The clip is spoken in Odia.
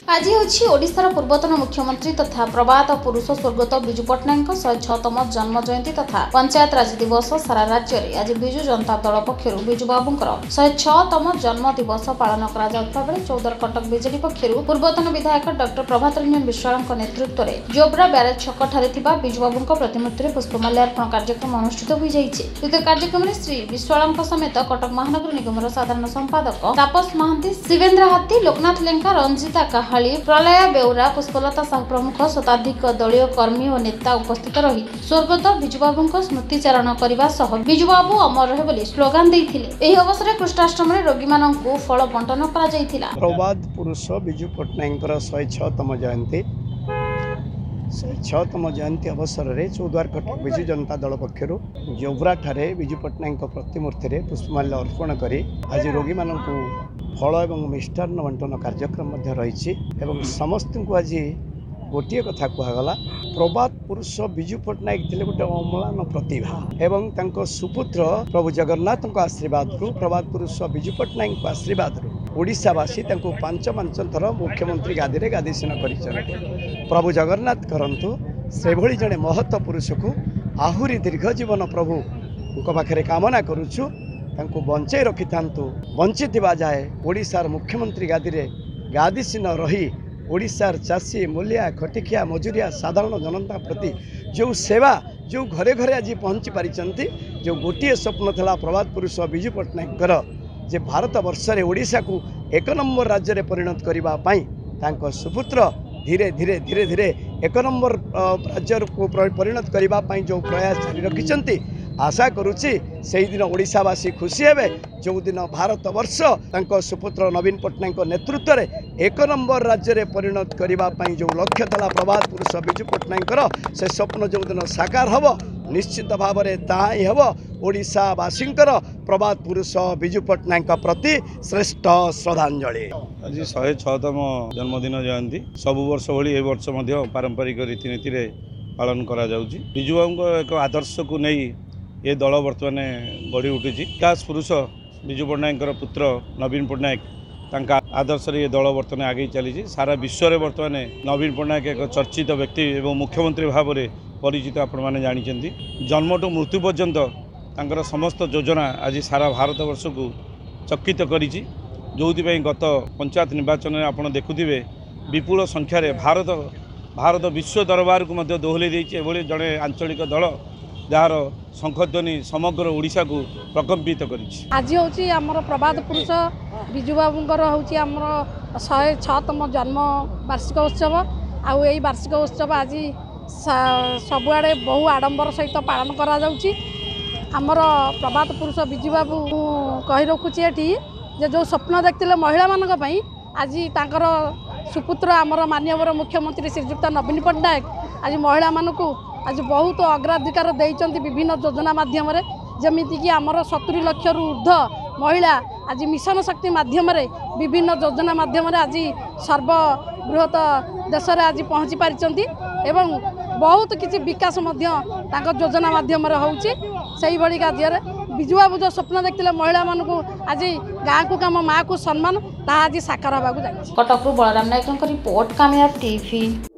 ଆଜି ହେଉଛି ଓଡ଼ିଶାର ପୂର୍ବତନ ମୁଖ୍ୟମନ୍ତ୍ରୀ ତଥା ପ୍ରବାଦ ପୁରୁଷ ସ୍ୱର୍ଗତ ବିଜୁ ପଟ୍ଟନାୟକଙ୍କ 106ତମ ଜନ୍ମ ଜୟନ୍ତୀ ତଥା ପଞ୍ଚାୟତ ରାଜ ଦିବସ। ସାରା ରାଜ୍ୟରେ ଆଜି ବିଜୁ ଜନତା ଦଳ ପକ୍ଷରୁ ବିଜୁବାବୁଙ୍କର 106ତମ ଜନ୍ମ ଦିବସ ପାଳନ କରାଯାଉଥିବା ବେଳେ 14 କଟକ ବିଜେଡି ପକ୍ଷରୁ ପୂର୍ବତନ ବିଧାୟକ ଡକ୍ଟର ପ୍ରଭାତ ରଞ୍ଜନ ବିଶ୍ୱାଳଙ୍କ ନେତୃତ୍ୱରେ ଜୋବ୍ରା ବ୍ୟାରେଜ ଛକଠାରେ ଥିବା ବିଜୁବାବୁଙ୍କ ପ୍ରତିମୂର୍ତ୍ତିରେ ପୁଷ୍ପମାଲ୍ୟାର୍ପଣ କାର୍ଯ୍ୟକ୍ରମ ଅନୁଷ୍ଠିତ ହୋଇଯାଇଛି। ଉକ୍ତ କାର୍ଯ୍ୟକ୍ରମରେ ଶ୍ରୀ ବିଶ୍ୱାଳଙ୍କ ସମେତ କଟକ ମହାନଗର ନିଗମର ସାଧାରଣ ସମ୍ପାଦକ ତାପସ ମହାନ୍ତି, ଶିବେନ୍ଦ୍ର ହାତୀ, ଲୋକନାଥ ଲେଙ୍କା, ରଞ୍ଜିତା କାହାଳି, ପ୍ରଳୟ ବେଉରା, ପୁଷ୍ପଲତା ସାହୁ ପ୍ରମୁଖ ଶତାଧିକ ଦଳୀୟ କର୍ମୀ ଓ ନେତା ଉପସ୍ଥିତ ରହି ସ୍ୱର୍ଗତ ବିଜୁବାବୁଙ୍କ ସ୍ମୃତିଚାରଣ କରିବା ସହ ବିଜୁବାବୁ ଅମର ରହେ ବୋଲି ସ୍ଲୋଗାନ ଦେଇଥିଲେ। ଏହି ଅବସରରେ କୃଷ୍ଣାଷ୍ଟମରେ ରୋଗୀମାନଙ୍କୁ ଫଳ ବଣ୍ଟନ କରାଯାଇଥିଲା। ପ୍ରବାଦ ପୁରୁଷ ବିଜୁ ପଟ୍ଟନାୟକଙ୍କର 106ତମ ଜୟନ୍ତୀ, 106ତମ ଜୟନ୍ତୀ ଅବସରରେ ଚୌଦ୍ୱାର କଟକ ବିଜୁ ଜନତା ଦଳ ପକ୍ଷରୁ ଜୋବ୍ରାଠାରେ ବିଜୁ ପଟ୍ଟନାୟକଙ୍କ ପ୍ରତିମୂର୍ତ୍ତିରେ ପୁଷ୍ପମାଲ୍ୟ ଅର୍ପଣ କରି ଆଜି ରୋଗୀମାନଙ୍କୁ ଫଳ ଏବଂ ମିଷ୍ଟାନ୍ନ ବଣ୍ଟନ କାର୍ଯ୍ୟକ୍ରମ ମଧ୍ୟ ରହିଛି। ଏବଂ ସମସ୍ତଙ୍କୁ ଆଜି ଗୋଟିଏ କଥା କୁହାଗଲା, ପ୍ରବାଦ ପୁରୁଷ ବିଜୁ ପଟ୍ଟନାୟକ ଥିଲେ ଗୋଟେ ଅମ୍ଳାନ ପ୍ରତିଭା ଏବଂ ତାଙ୍କ ସୁପୁତ୍ର ପ୍ରଭୁ ଜଗନ୍ନାଥଙ୍କ ଆଶୀର୍ବାଦରୁ, ପ୍ରବାଦ ପୁରୁଷ ବିଜୁ ପଟ୍ଟନାୟକଙ୍କ ଆଶୀର୍ବାଦରୁ ଓଡ଼ିଶାବାସୀ ତାଙ୍କୁ 5 5 ଥର ମୁଖ୍ୟମନ୍ତ୍ରୀ ଗାଦିରେ ଗାଦିସୀନ କରିଛନ୍ତି। ପ୍ରଭୁ ଜଗନ୍ନାଥ କରନ୍ତୁ ସେଭଳି ଜଣେ ମହତ୍ଵ ପୁରୁଷକୁ ଆହୁରି ଦୀର୍ଘ ଜୀବନ ପ୍ରଭୁଙ୍କ ପାଖରେ କାମନା କରୁଛୁ, ତାଙ୍କୁ ବଞ୍ଚେଇ ରଖିଥାନ୍ତୁ। ବଞ୍ଚିଥିବା ଯାଏ ଓଡ଼ିଶାର ମୁଖ୍ୟମନ୍ତ୍ରୀ ଗାଦିରେ ଗାଦିସୀନ ରହି ଓଡ଼ିଶାର ଚାଷୀ, ମୂଲିଆ, ଖଟିଖିଆ, ମଜୁରିଆ, ସାଧାରଣ ଜନତା ପ୍ରତି ଯେଉଁ ସେବା, ଯେଉଁ ଘରେ ଘରେ ଆଜି ପହଞ୍ଚି ପାରିଛନ୍ତି, ଯେଉଁ ଗୋଟିଏ ସ୍ୱପ୍ନ ଥିଲା ପ୍ରବାଦ ପୁରୁଷ ବିଜୁ ପଟ୍ଟନାୟକଙ୍କର ଯେ ଭାରତ ବର୍ଷରେ ଓଡ଼ିଶାକୁ 1 ନମ୍ବର ରାଜ୍ୟରେ ପରିଣତ କରିବା ପାଇଁ, ତାଙ୍କ ସୁପୁତ୍ର ଧୀରେ ଧୀରେ ଧୀରେ ଧୀରେ 1 ନମ୍ବର ରାଜ୍ୟକୁ ପରିଣତ କରିବା ପାଇଁ ଯେଉଁ ପ୍ରୟାସ ଜାରି ରଖିଛନ୍ତି, ଆଶା କରୁଛି ସେଇଦିନ ଓଡ଼ିଶାବାସୀ ଖୁସି ହେବେ ଯେଉଁଦିନ ଭାରତ ବର୍ଷ ତାଙ୍କ ସୁପୁତ୍ର ନବୀନ ପଟ୍ଟନାୟକଙ୍କ ନେତୃତ୍ୱରେ 1 ନମ୍ବର ରାଜ୍ୟରେ ପରିଣତ କରିବା ପାଇଁ ଯେଉଁ ଲକ୍ଷ୍ୟ ଥିଲା ପ୍ରବାଦ ପୁରୁଷ ବିଜୁ ପଟ୍ଟନାୟକଙ୍କର, ସେ ସ୍ୱପ୍ନ ଯେଉଁଦିନ ସାକାର ହେବ, ନିଶ୍ଚିତ ଭାବରେ ତାହା ହିଁ ହେବ ଓଡ଼ିଶାବାସୀଙ୍କର ପ୍ରବାଦ ପୁରୁଷ ବିଜୁ ପଟ୍ଟନାୟକଙ୍କ ପ୍ରତି ଶ୍ରେଷ୍ଠ ଶ୍ରଦ୍ଧାଞ୍ଜଳି। ଆଜି 106ତମ ଜନ୍ମଦିନ ଜୟନ୍ତୀ ସବୁ ବର୍ଷ ଭଳି ଏ ବର୍ଷ ମଧ୍ୟ ପାରମ୍ପରିକ ରୀତିନୀତିରେ ପାଳନ କରାଯାଉଛି। ବିଜୁବାବୁଙ୍କ ଏକ ଆଦର୍ଶକୁ ନେଇ ଏ ଦଳ ବର୍ତ୍ତମାନ ଗଢ଼ି ଉଠିଛି। ବିକାଶ ପୁରୁଷ ବିଜୁ ପଟ୍ଟନାୟକଙ୍କର ପୁତ୍ର ନବୀନ ପଟ୍ଟନାୟକ, ତାଙ୍କ ଆଦର୍ଶରେ ଏ ଦଳ ବର୍ତ୍ତମାନ ଆଗେଇ ଚାଲିଛି। ସାରା ବିଶ୍ୱରେ ବର୍ତ୍ତମାନ ନବୀନ ପଟ୍ଟନାୟକ ଏକ ଚର୍ଚ୍ଚିତ ବ୍ୟକ୍ତି ଏବଂ ମୁଖ୍ୟମନ୍ତ୍ରୀ ଭାବରେ ପରିଚିତ। ଆପଣମାନେ ଜାଣିଛନ୍ତି, ଜନ୍ମଠୁ ମୃତ୍ୟୁ ପର୍ଯ୍ୟନ୍ତ ତାଙ୍କର ସମସ୍ତ ଯୋଜନା ଆଜି ସାରା ଭାରତବର୍ଷକୁ ଚକିତ କରିଛି। ଯେଉଁଥିପାଇଁ ଗତ ପଞ୍ଚାୟତ ନିର୍ବାଚନରେ ଆପଣ ଦେଖୁଥିବେ ବିପୁଳ ସଂଖ୍ୟାରେ ଭାରତ ବିଶ୍ୱ ଦରବାରକୁ ମଧ୍ୟ ଦୋହଲେଇ ଦେଇଛି। ଏଭଳି ଜଣେ ଆଞ୍ଚଳିକ ଦଳ ଯାହାର ଶଙ୍ଖଧ୍ୱନି ସମଗ୍ର ଓଡ଼ିଶାକୁ ପ୍ରକମ୍ପିତ କରିଛି। ଆଜି ହେଉଛି ଆମର ପ୍ରବାଦ ପୁରୁଷ ବିଜୁବାବୁଙ୍କର ହେଉଛି ଆମର 106ତମ ଜନ୍ମ ବାର୍ଷିକ ଉତ୍ସବ। ଆଉ ଏଇ ବାର୍ଷିକ ଉତ୍ସବ ଆଜି ସବୁଆଡ଼େ ବହୁ ଆଡ଼ମ୍ବର ସହିତ ପାଳନ କରାଯାଉଛି। ଆମର ପ୍ରବାଦ ପୁରୁଷ ବିଜୁବାବୁ, କହି ରଖୁଛି ଏଠି ଯେ ଯେଉଁ ସ୍ୱପ୍ନ ଦେଖିଥିଲେ ମହିଳାମାନଙ୍କ ପାଇଁ, ଆଜି ତାଙ୍କର ସୁପୁତ୍ର ଆମର ମାନ୍ୟବର ମୁଖ୍ୟମନ୍ତ୍ରୀ ଶ୍ରୀଯୁକ୍ତ ନବୀନ ପଟ୍ଟନାୟକ ଆଜି ମହିଳାମାନଙ୍କୁ ଆଜି ବହୁତ ଅଗ୍ରାଧିକାର ଦେଇଛନ୍ତି ବିଭିନ୍ନ ଯୋଜନା ମାଧ୍ୟମରେ। ଯେମିତିକି ଆମର 70 ଲକ୍ଷରୁ ଉର୍ଦ୍ଧ୍ୱ ମହିଳା ଆଜି ମିଶନ ଶକ୍ତି ମାଧ୍ୟମରେ, ବିଭିନ୍ନ ଯୋଜନା ମାଧ୍ୟମରେ ଆଜି ସର୍ବବୃହତ ଦେଶରେ ଆଜି ପହଞ୍ଚି ପାରିଛନ୍ତି ଏବଂ ବହୁତ କିଛି ବିକାଶ ମଧ୍ୟ ତାଙ୍କ ଯୋଜନା ମାଧ୍ୟମରେ ହେଉଛି। ସେଇଭଳି କାର୍ଯ୍ୟରେ ବିଜୁବାବୁ ଯେଉଁ ସ୍ୱପ୍ନ ଦେଖିଥିଲେ ମହିଳାମାନଙ୍କୁ ଆଜି ଗାଁକୁ କାମ, ମାଆକୁ ସମ୍ମାନ, ତାହା ଆଜି ସାକାର ହେବାକୁ ଯାଉଛି। କଟକରୁ ବଳରାମ ନାୟକଙ୍କ ରିପୋର୍ଟ, କାମିୟାବ ଟିଭି।